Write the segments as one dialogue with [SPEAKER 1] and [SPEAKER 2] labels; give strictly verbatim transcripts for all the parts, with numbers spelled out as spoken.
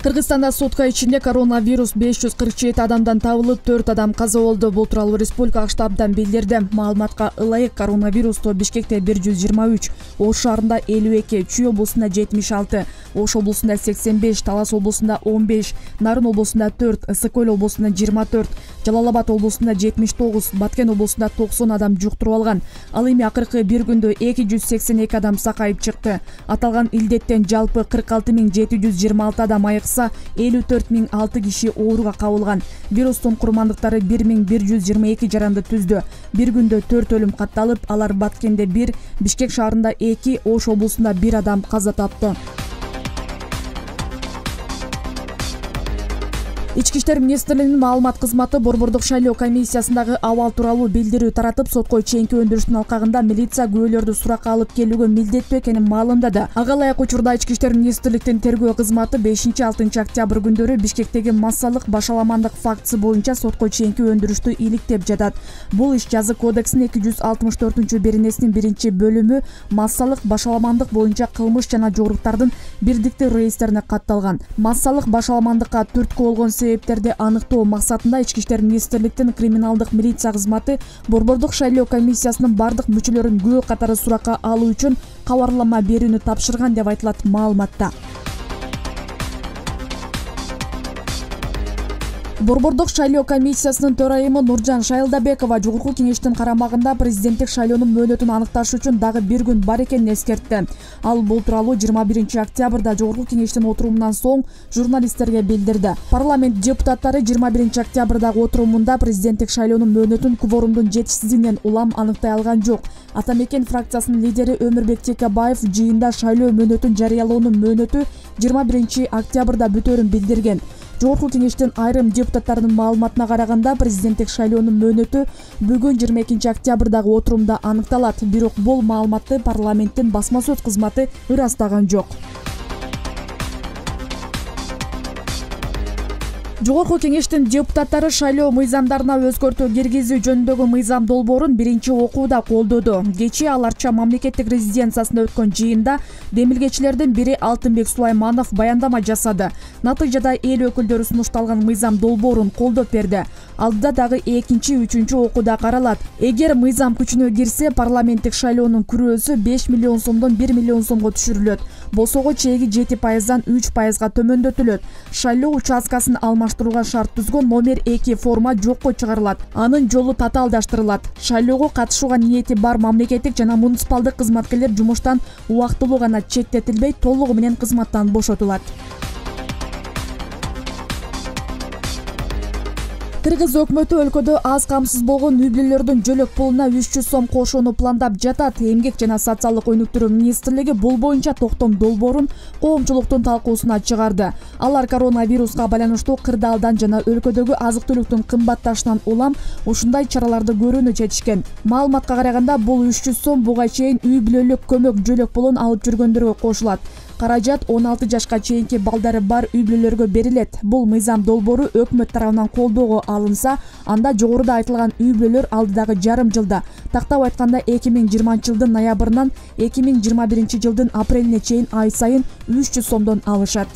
[SPEAKER 1] Кыргызстанда сутка ичинде коронавирус беш жүз кырк жети адамдан табылып, төрт адам каза болду. Бул тууралуу республикалык штабдан билдирди. Маалыматка ылайык коронавирусту Бишкекте бир жүз жыйырма үч, Ош шаарында элүү эки, Чүй облусунда жетимиш алты, Ош облусунда сексен беш, Талас облусунда он беш, Нарын облусунда төрт, Ысык Көл облусунда жыйырма төрт, Жалал Абад облусунда жетимиш тогуз, Баткен облусунда токсон адам жуктуруп алган. Ал эми акыркы бир күндө эки жүз сексен эки адам сакайып чыкты. Аталган илдеттен жалпы кырк алты миң жети жүз жыйырма алты адам айыкса, элүү төрт миң алты киши ооруга кабылган. Вирустун курмандыктары бир миң бир жүз жыйырма эки жаранды түздү. Бир күндө төрт өлүм катталып, алар Баткенде бир, Бишкек шаарында эки, Ош облусунда бир адам каза тапты. Ички иштер министрлигинин маалымат кызматы Борбордук шайлоо комиссиясындагы абал тууралуу билдирүү таратып, сотко чейинки өндүрүштүн алкагында милиция күбөлөрдү суракка алып келүүгө милдеттүү экенин маалымдады. Ага ылайык учурда Ички иштер министрликтин тергөө кызматы бешинчи алтынчы октябрь күндөрү Бишкектеги массалык башаламандык фактысы боюнча сотко чейинки өндүрүштү иликтеп жатат. Бул иш жазы кодексинин эки жүз алтымыш төртүнчү беренесинин биринчи бөлүмү массалык башаламандык боюнча кылмыш жана жоруктардын бирдиктүү реестрине катталган. Массалык башаламандыкка түрткү болгон себептерди аныктоо максатында Ички иштер министрликтин криминалдык милиция кызматы Борбордук шайлоо комиссиясынын бардык мүчөлөрүн күбө катары суракка алуу үчүн кабарлама берүүнү тапшырган деп айтылат маалыматта. Борбордук шайлоо комиссиясынын төрайымы Нуржан Шайлдабекова жогорку кеңештин карамагында президенттик шайлоонун мөөнөтүн аныкташ үчүн дагы бир күн бар экенин эскертти. Ал бул тууралуу жыйырма биринчи октябрда жогорку кеңештин отурумунан соң журналисттерге билдирди. Парламент депутаттары жыйырма биринчи октябрдагы отурумунда президенттик шайлоонун мөөнөтүн кворумдун жетишсиздигинен улам аныктай алган жок. Ата Мекен фракциясынын лидери Өмүрбек Текебаев жыйында шайлоо мөөнөтүн жарыялоонун мөөнөтү жыйырма биринчи октябрда бүтөөрүн билдирген. Жогорку кеңештин айрым депутаттарынын маалыматына караганда, президенттик шайлоонун мөөнөтү бүгүн жыйырма экинчи октябрдагы отурумда аныкталат. Бирок бул маалыматты парламенттин басма сөз кызматы ырастаган жок. Жогорку кеңештин депутаттары шайлоо мыйзамдарына өзгөртүү киргизүү жөнүндөгү мыйзам долбоорун биринчи окууда колдоду. Кечээ ал Арча мамлекеттик резиденциясында өткөн жыйында демилгечилердин бири Алтынбек Сулайманов баяндама жасады. Натыйжада эл өкүлдөрү сунушталган мыйзам долбоорун колдоп берди. Алдыда дагы экинчи, үчүнчү окууда каралат. Эгер мыйзам күчүнө кирсе, парламенттик шайлоонун күрөөсү беш миллион сомдон бир миллион сомго түшүрүлөт. Босого чеги жети пайыздан үч пайызга төмөндөтүлөт. Шайлоо участкасын алмаштырууга шарт түзгөн номер эки форма жокко чыгарылат. Анын жолу татаалдаштырылат. Шайлоого катышууга ниети бар мамлекеттик жана муниципалдык кызматкерлер жумуштан убактылуу гана четтетилбей, толугу менен кызматтан бошотулат. Кыргыз өкмөтү өлкөдө аз камсыз болгон үй бүлөлөрдүн жөлөк пулуна үч жүз сом кошууну пландап жатат. Эмгек жана социалдык өнүктүрүү министрлиги бул боюнча токтом долбоорун коомчулуктун талкуусуна чыгарды. Алар коронавируска байланыштуу кырдаалдан жана өлкөдөгү азык-түлүктүн кымбатташынан улам ушундай чараларды көрүүнү чечишкен. Маалыматка караганда, бул үч жүз сом буга чейин үй бүлөлүк көмөк жөлөк пулун алып жүргөндөргө кошулат. Каражат он алты жашка чейинки балдары бар үй бүлөлөргө берилет. Бул мыйзам долбоору өкмөт тарабынан колдоого алынса, анда жогоруда айтылган үй бүлөлөр алдыдагы жарым жылда, тактап айтканда эки миң жыйырманчы жылдын ноябрынан эки миң жыйырма биринчи жылдын апрелине чейин ай сайын үч жүз сомдон алышат.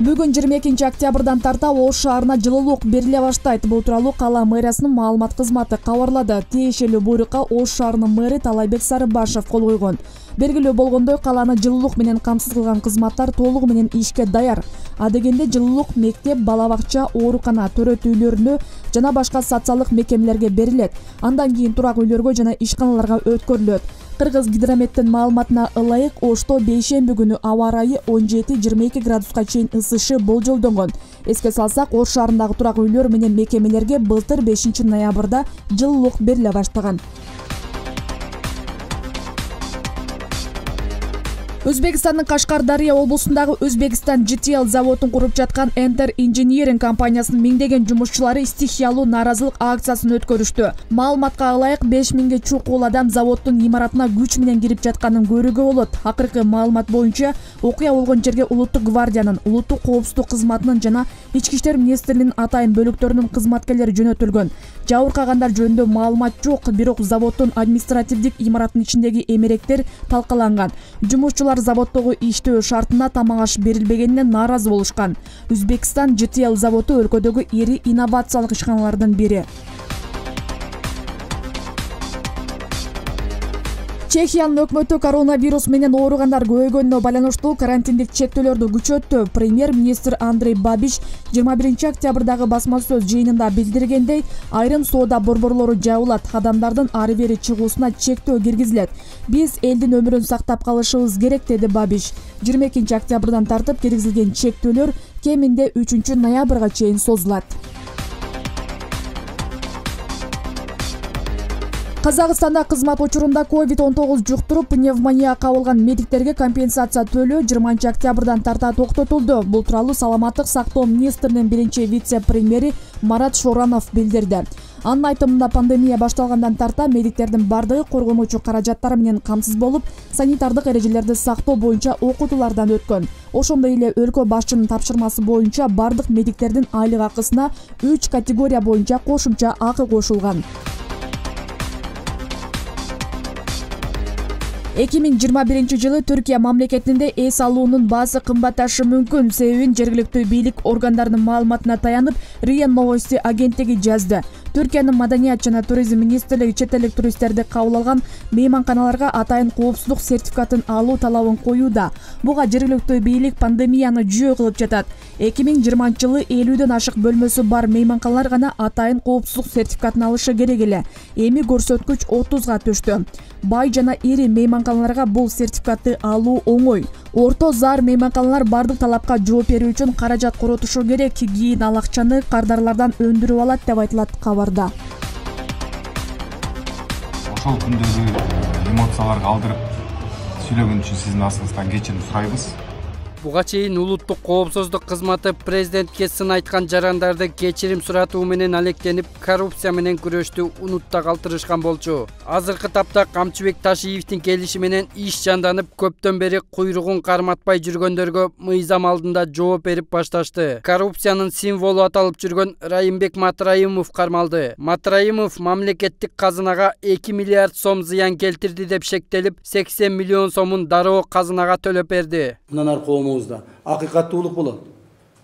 [SPEAKER 1] Бүгүн жыйырма экинчи октябрдан тарта Ош шаарына жылуулук бериле баштайт. Бул тууралуу кала мэриясынын маалымат кызматы кабарлады. Тиешелүү буйрукка Ош шаарынын мэрі Талайбек Сарыбашев кол койгон. Белгилүү болгондой, каланы жылуулук менен камсыз кылган кызматтар толугу менен ишке даяр. Адегенде жылуулук мектеп, бала бакча, оорукана, төрөт үйлөрүнө жана башка социалдык мекемелерге берилет. Андан кийин турак үйлөргө жана ишканаларга өткөрүлөт. Кыргыз гидрометтин маалыматына ылайык, Ошто бейшемби күнү аба ырайы он жети жыйырма эки градуска чейин ысышы болжолдонгон. Эске салсак, Ош шаарындагы турак үйлөр менен мекемелерге былтыр бешинчи ноябрда жылуулук бериле баштаган. Өзбекстандын Кашкар-Дарыя облусундагы Өзбекстан джи ти эл заводун куруп жаткан Enter Engineering компаниясынын миңдеген жумушчулары стихиялуу нааразылык акциясын өткөрүштү. Маалыматка ылайык, беш миңге чукул адам заводдун имаратына күч менен кирип жатканын көрүүгө болот. Акыркы маалымат боюнча, окуя болгон жерге Улуттук гвардиянын, улуттук коопсуздук кызматынын жана Ички иштер министрлигинин атайын бөлүктөрүнүн кызматкерлери жөнөтүлгөн. Жабыркагандар жөнүндө маалымат жок, бирок заводдун административдик имаратынын ичиндеги эмеректер талкаланган. Жумушчулар Алар заводдогу иштөө шартына тамак аш берилбегенине нааразы болушкан. Өзбекстан жи ти эл заводу өлкөдөгү ири инновациялык ишканалардын бири. Чехиянын өкмөтү коронавирус менен ооругандар көбөйгөнүнө байланыштуу карантиндик чектөөлөрдү күчөттү. Премьер-министр Андрей Бабиш жыйырма биринчи октябрдагы басма сөз жыйынында билдиргендей, айрым соода борборлору жабылат, адамдардын ары бери чыгуусуна чектөө киргизилет. Биз элдин өмүрүн сактап калышыбыз керек, деди Бабиш. жыйырма экинчи октябрдан тартып киргизилген чектөөлөр кеминде үчүнчү ноябрга чейин созулат. Казакстанда кызмат учурунда ковид он тогуз жуктуруп, пневмония кабылган медиктерге компенсация төлөө жыйырманчы октябрдан тарта токтотулду. Бул тууралуу Саламаттык сактоо министринин биринчи вице-премьери Марат Шоранов билдирди. Анын айтымында пандемия башталгандан тарта медиктердин бардыгы коргонуучу каражаттары менен камсыз болуп, санитардык эрежелерди сактоо боюнча окутуулардан өткөн. Ошондой эле өлкө башчынын тапшырмасы боюнча бардык медиктердин айлык акысына үч категория боюнча кошумча акы кошулган. эки миң жыйырма биринчи жылы Түркия мамлекетинде эс алуунун баасы кымбатташы мүмкүн. Себебин жергиликтүү бийлик органдарынын маалыматына таянып, РИА Новости агенттиги жазды. Түркиянын Маданият жана туризм министрлиги чет элдик туристтерди кабыл алган мейманканаларга атайын коопсуздук сертификатын алуу талабын коюуда. Буга жергиликтүү бийлик пандемияны жөө кылып жатат. эки миң жыйырманчы жылы элүүдөн ашык бөлмөсү бар мейманканалар гана атайын коопсуздук сертификатын алышы керек эле. Эми көрсөткүч отузга түштү. Бай жана ири мейманканаларга бул сертификатты алуу оңой. Орто зар мейманканалар бардык талапка жооп берүү үчүн каражат коротушу керек. Кийин ал акчаны кардарлардан өндүрүп алат деп айтылат кабарда.
[SPEAKER 2] Ошол күндөгү эмоцияларга алдырып сүйлөгөн үчүн сиздин астыңыздан кечирим сурайбыз.
[SPEAKER 3] Буга чейин улуттук коопсуздук кызматы президентке сын айткан жарандарды кечирим суратуу менен алектенип, коррупция менен күрөштү унутта калтырышкан болчу. Азыркы тапта Камчыбек Ташиевдин келиши менен иш жанданып, көптөн бери куйругун карматпай жүргөндөргө мыйзам алдында жооп берип башташты. Коррупциянын символу аталып жүргөн Райымбек Матраимов кармалды. Матраимов мамлекеттик казынага эки миллиард сом зыян келтирди деп шектелип, сексен миллион сомун дароо казынага төлөп берди.
[SPEAKER 4] Акыйкаттуулук болот.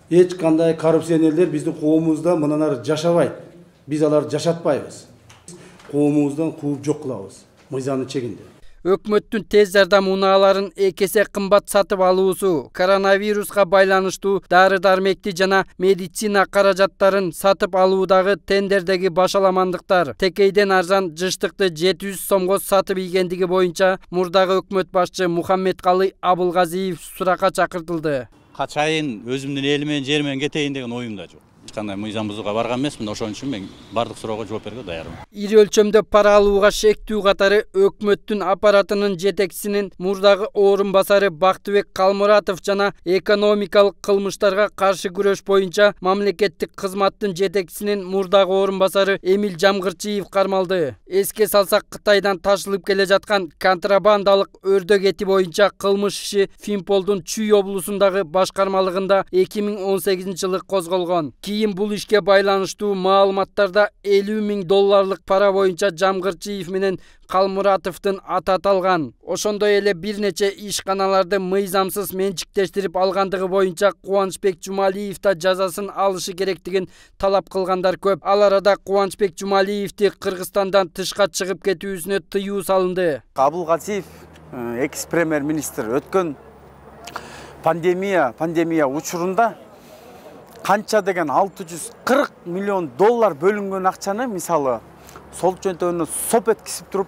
[SPEAKER 4] Эч кандай коррупционерлер биздин коомубузда мындан ары жашабайт. Биз аларды жашатпайбыз. Коомубуздан кууп жок кылабыз. Мыйзамдын чегинде.
[SPEAKER 3] Өкмөттүн тез жардам унааларын эки эсе кымбат сатып алуусу, коронавируска байланыштуу дары-дармекти жана медицина каражаттарын сатып алуудагы тендердеги башаламандыктар, текейден арзан жыштыкты жети жүз сомго сатып ийгендиги боюнча мурдагы өкмөт башчы Мухаммедкалый Абылгазиев суракка чакыртылды.
[SPEAKER 5] Качайын өзүмдүн эли менен жери менен кетейин деген оюмда жок. Кандай мыйзам бузууга барган эмесмин, ошон үчүн мен бардык суроого жооп берүүгө даярмын.
[SPEAKER 3] Ири өлчөмдө пара алууга шектүү катары өкмөттүн аппаратынын жетекчисинин мурдагы орун басары Бактыбек Калмуратов жана экономикалык кылмыштарга каршы күрөш боюнча мамлекеттик кызматтын жетекчисинин мурдагы орун басары Эмил Жамгырчиев кармалды. Эске салсак, Кытайдан ташылып келе жаткан контрабандалык өрдөк эти боюнча кылмыш иши Финполдун Чүй облусундагы башкармалыгында эки миң он сегизинчи жылы козголгон. Кийин бул ишке байланыштуу маалыматтарда элүү миң долларлык пара боюнча Жамгырчиев менен Калмуратовдун аты аталган. Ошондой эле бир нече ишканаларды мыйзамсыз менчиктештирип алгандыгы боюнча Кубанычбек Жумалиев да жазасын алышы керектигин талап кылгандар көп. Ал арада Кубанычбек Жумалиевди Кыргызстандан тышка чыгып кетүүсүнө тыюу салынды.
[SPEAKER 6] Абылгазиев экс-премьер-министр өткөн пандемия пандемия учурунда канча деген алты жүз кырк миллион доллар бөлүнгөн акчаны, мисалы, сол жөнтөгүнө соп эткизип туруп,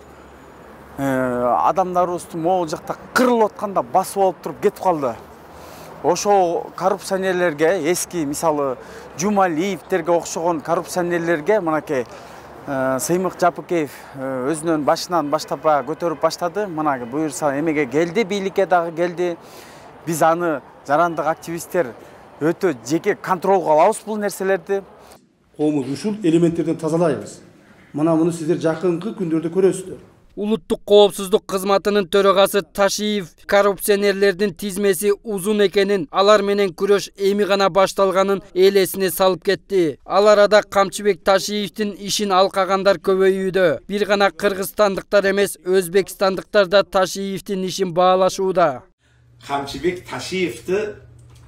[SPEAKER 6] адамдарыбызды могул жакта кырылып атканда басып алып туруп кетип калды. Ошо коррупционерлерге, эски, мисалы, Жумалиевтерге окшогон коррупционерлерге мынакей Сыймык Жапыкеев өзүнүн башынан баштап көтөрүп баштады. Мына буюрса эмеге келди, бийликке дагы келди. Биз аны жарандык активисттер өтө жеке контролго алабыз бул нерселерди.
[SPEAKER 4] Коомуз ушул элементтерден тазалайбыз. Мына муну сиздер жакынкы күндөрдө көрөсүздөр.
[SPEAKER 3] Улуттук коопсуздук кызматынын төрагасы Ташиев коррупционерлердин тизмеси узун экенин, алар менен күрөш эми гана башталганын элесине салып кетти. Ал арада Камчыбек Ташиевдин ишин алкагандар көбөйүүдө. Бир гана кыргызстандыктар эмес, өзбекстандыктар да Ташиевдин ишин баалашууда.
[SPEAKER 7] Камчыбек Ташиевди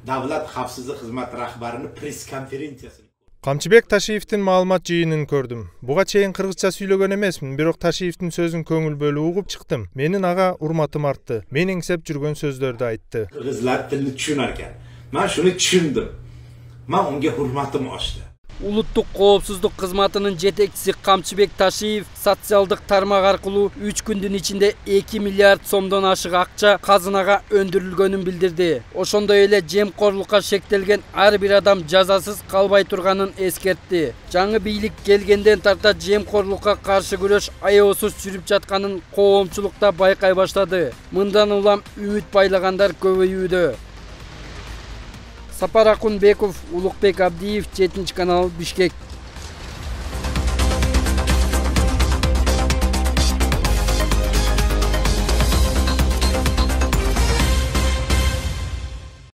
[SPEAKER 7] Davlat Xavfsizlik Xizmati rahbarining press konferensiyasi.
[SPEAKER 8] Камчыбек Ташиевдин маалымат жыйынын көрдүм. Буга чейин кыргызча сүйлөгөн эмесмин, бирок Ташиевдин сөзүн көңүл бөлүп угуп чыктым. Менин ага урматым артты. Мен эңсеп жүргөн сөздөрдү айтты.
[SPEAKER 7] Кыргызлар тилин түшүнөр экен. Мен шуну түшүндүм. Мен унга урматым ашты.
[SPEAKER 3] Улуттук коопсуздук кызматынын жетекчиси Камчыбек Ташиев социалдык тармак аркылуу үч күндүн ичинде эки миллиард сомдон ашык акча казынага өндүрүлгөнүн билдирди. Ошондой эле жемкорлукка шектелген ар бир адам жазасыз калбай турганын эскертти. Жаңы бийлик келгенден тарта жемкорлукка каршы күрөш аеосуз жүрүп жатканын коомчулукта байкай баштады. Мындан улам үмүт байлагандар көбөйүүдө. Сапар Акунбеков, Улукбек Абдиев, жетинчи канал, Бишкек.